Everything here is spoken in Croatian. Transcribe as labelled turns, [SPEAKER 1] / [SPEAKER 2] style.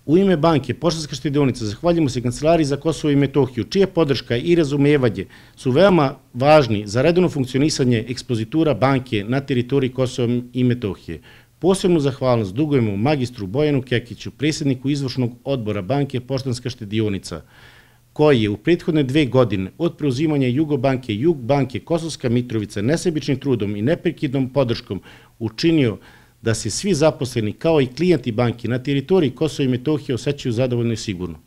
[SPEAKER 1] U ime banke Poštanska štedionica zahvaljujemo se Kancelariji za Kosovo i Metohiju, čija podrška i razumevanje su veoma važni za redovno funkcionisanje ekspozitura banke na teritoriji Kosova i Metohije. Posebnu zahvalnost dugujemo magistru Bojanu Kekiću, predsjedniku izvršnog odbora banke Poštanska štedionica, koji je u prethodne 2 godine od preuzimanja Jugobanke, Jugbanke, Kosovska Mitrovica nesebičnim trudom i neprekidnom podrškom učinio da se svi zaposleni kao i klijenti banke na teritoriji Kosova i Metohije osjećaju zadovoljno i sigurno.